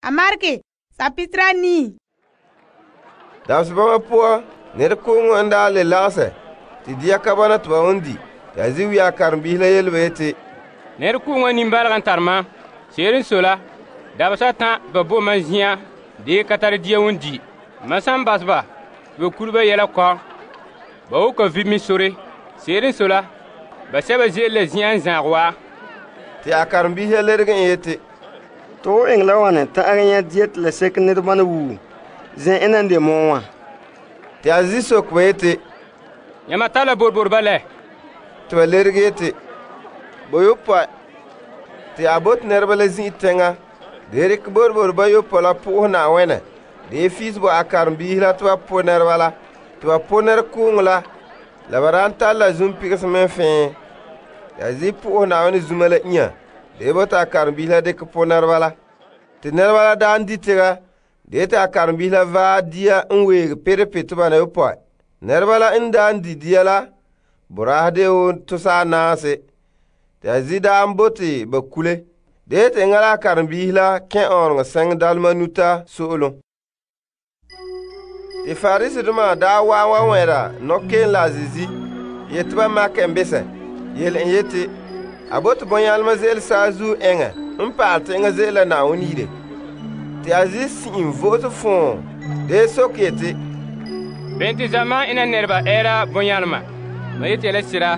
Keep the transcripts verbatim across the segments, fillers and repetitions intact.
a maregɛ sapitera nii. Dabese'ere poan nɛrekooŋɔ n daa le lagesɛ te dia ka bɔna te ba wan di. Te a zi wia karenbiisi la yele ba yeti, nɛrekooŋɔ nimbalga n tare mam. Se'ere n sɔe la, dabesa atan ba bo mam zin'an dee ka tare dia won di. Mam san bas ba te ba kure ba yɛla kɔm, ba wo ka vi' min sore. Se'ere n sɔe la, ba sɛba ze'ele la zin'an n zagɛ wa. Te a karenbiisi la lerege en yeti, to ho eŋɛ la wane ta'an nyɛ dia te la seke nɛrebana wuu zɛn ena n de mɔɔ wã? Te a zi soke ba yeti, yãma tara la borboreba lɛ? Te ba lerege yeti, boyopɔe. Te a bote nɛreba la zin'i teŋa de rekɛ borbor bayopɔe la po'ohɛ Na'ayenɛ de fiis bo a karenbiisi la te ba po nɛreba la, te ba po nɛrekooŋɔ la, la ba daan tare la zunpigese mɛ fɛɛ. Te a zi po'ohɛ Na'ayenɛ zuma la inya de bote a karenbiisi la dikɛ po nɛreba la. Te nɛreba la daan di tega de te a karenbiisi la vaɛ dia n weege perepe te ba na yopɔe. Nɛreba la n daan di dia la boraahe de wo tosaa naase. Te a zi daan bote ba kule. De te eŋa la a karenbiisi la kẽ ɔɔreŋɔ sɛŋ dalema nuta so'olom. Te Farisidoma daa waa wa wɛra nɔkeen la a zizi yeti ba makɛ en besɛ yele en yeti, a bote bɔnyalema ze'ele saazuo eŋɛ n pa'alɛ tɛ eŋa ze'ele la Na'ayenɛ yire. Te a zi si'in vo'ose fɔɔ de soke yeti, bene te zamaan ena nɛreba ɛɛra bɔnyalema? Ma yeti la sira,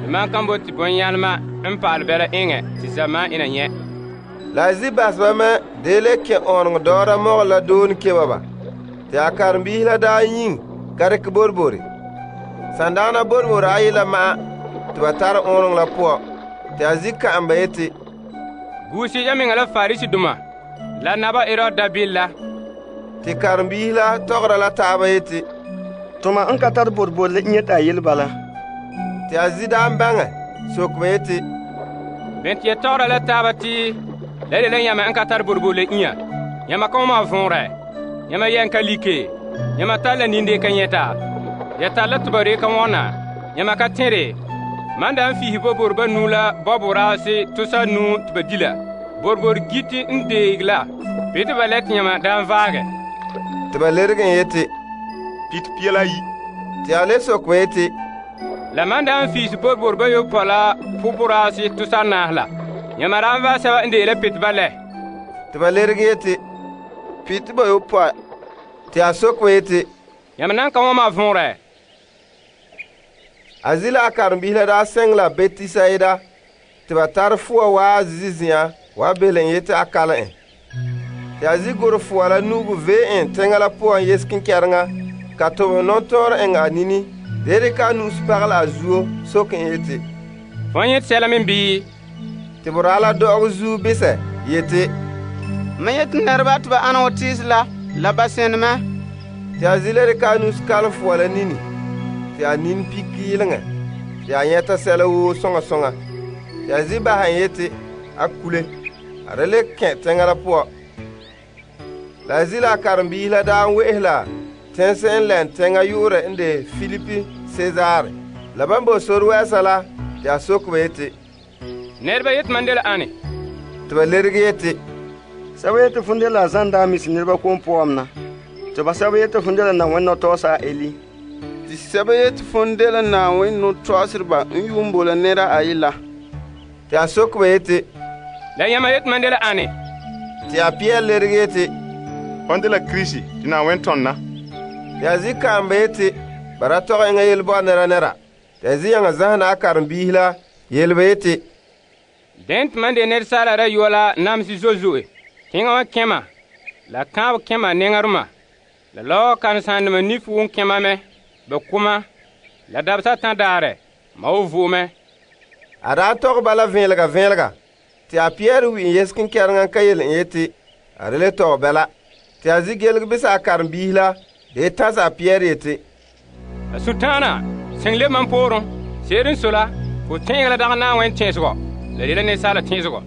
mam kan bote bɔnyalema n pa'alɛ bɛla eŋɛ te zamaan ena nyɛ. La a zi baseba mɛ de le kẽ ɔɔneŋɔ dɔɔra mɔgɔ la doone keba ba. Te a karenbiisi la daa yiŋ ka dikɛ borbori. Sandagana borbori ayi la ma'a te ba tare ɔɔneŋɔ la poan. Te a zi ka'am ba yeti, guusi ya meŋa la Farisidoma la naba Herod dabil la. Te karenbiisi la tɔgɔra la taaba yeti, toma n ka tare borbor la inya ta yele bala. Te a zi daan baŋɛ soke ba yeti, bene te ya tɔgɔra la taaba te la de la yãmɛ n ka tare borbor la inya? Yãma ka wãma vɔnrɛ? Yãma yɛn ka like? Yãma tar la ninde ka nyɛta? Ya tar la tebare ka wɔna? Yãma ka tẽre? Man da n fiisi borbor nu la bɔboraase tosa nu te ba di la. Borbor giti n deeg la. Be te ba lɛ te yãma daan vaagɛ? Te ba lerege en yeti, pit pia la yi. Te a le soke ba yeti, la man da n fiisi borbor bayopɔe la poporaase tosa naas la. Yãma daan vaɛ sɛba n dee la pit ba lɛ? Te ba lerege yeti, pit bayopɔe. Te a soke ba yeti, yãmb nan ka wãma võorɛ? A zi la a karenbiisi la daa sɛŋ la Betisayida te ba tare fua waa zizi zi'an wa bele en yeti a kalɛ en. Te a zi goro fua la nuugu vee en teŋa la puan yes kinkɛreŋa ka tobɛ nɔntɔɔrɛ eŋ a nini de dikɛ a nu'usi pagela a zuo soke en yeti, fõn yet sɛla me bii? Te boraa la dɔ'ɔgɔ zuo bisɛ yeti, mam yeti nɛreba te ba ana wa tiisi la la ba sẽne mɛ. Te a zi la dikɛ a nu'usi kalɛ fua la nini te a nin piki yeleŋɛ te a nyɛta sɛla woo sõŋa sõŋa. Te a zi basɛ en yeti a kule a da le kẽ teŋa la poan. La a zi la a karenbiisi la daa n we'ese la tẽnse n lɛn teŋa yu'urɛ n de Filipi Sezaare. La ban bo sore wɛɛsa la te a soke ba yeti, nɛreba yeti man de la ane? Te ba lerege yeti, sɛba yeti fõn de la zãn daa misi nɛreba kom poam na. Te ba sɛba yeti fõn de la Na'ayenɛ nɔtɔɔsa a Eli. Te sɛba yeti fõn de la Na'ayenɛ nɔtɔɔsereba n yuun bo la nɛra ayi la. Te a soke ba yeti, la yãmba yeti man de la ane? Te a Piyɛr lerege yeti, fõn de la Kirisi tɩ Na'ayenɛ tõnda. Te a zi ka'am ba yeti, bara tɔgɛ eŋa yelbɔɔ nɛra nɛra. Te a zi yãŋa zãsena a karenbiisi la yele ba yeti, dẽn tɩ man de nɛresaala rayɔa la namsi zo'e-zo'e. Tẽngã wã kẽma, la kãab kẽma nẽŋarema, la lao karen-sãandema nif wʋn kẽma mɛ, bɛ kʋma, la dabsa tã daarɛ, ma wo vo'omɛ. A daa tɔgɛ bala vẽelega vẽelega. Te a Piyɛr wi n yes kinkɛreŋa ka yele en yeti, a da le tɔgɛ bɛla. Te a zi gelg bisa a karenbiisi la de tãsa a Piyɛr yeti, a sũ-tãana sẽng le mam poorẽ. Seed n so la, fo tẽeg la dag Na'ayenɛ tẽesgɔ, la de la nensaala tẽesgɔ.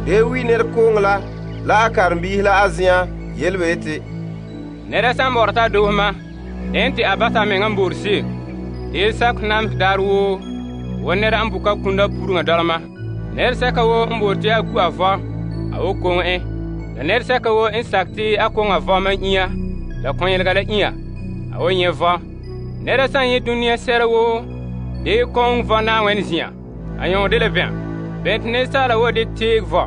De wi nɛrekooŋɔ la la a karenbiisi la a zɩã yel ba yeti, nɛra sã n bɔr t'a doosma, dẽn tɩ a basa a mengã n boor seeg. Deel sak namsɛ daar woo, wa nɛra n buka kũnda puruŋa dɔlema. Nɛresɛka woo n boor tɩ a ku a vɔ, a wo koŋe en. La nɛresɛka woo n sakɛ te a koŋa vɔ mam inya la kɔnyelega la inya, a wan nyɛ' vɔ. Nɛra san nyɛ' dunia sɛra woo de kɔŋ vɔ Na'ayenɛ zen'an, a nyɔŋɔ dela bɛn? Bene te asaala woo de teege vɔ?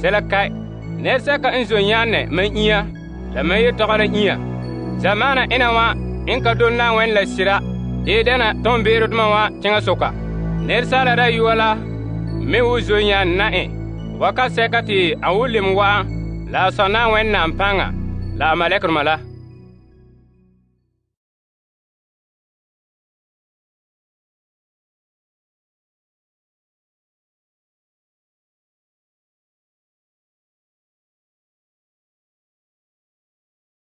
Sɛla ka'. Nɛresɛka n zon nyaanɛ mam inya la mam yetɔgɔ la inya. Zamaana ena wa n ka dole Na'ayenɛ la sera de dɛna toonbeerodoma wa teŋasoka. Nɛresaala Dayɔa la me wo zon nyaanɛ na en wakasɛka te a wo lem wa'an la a Sɔ Na'ayenɛ naam paŋa la a malekedoma la.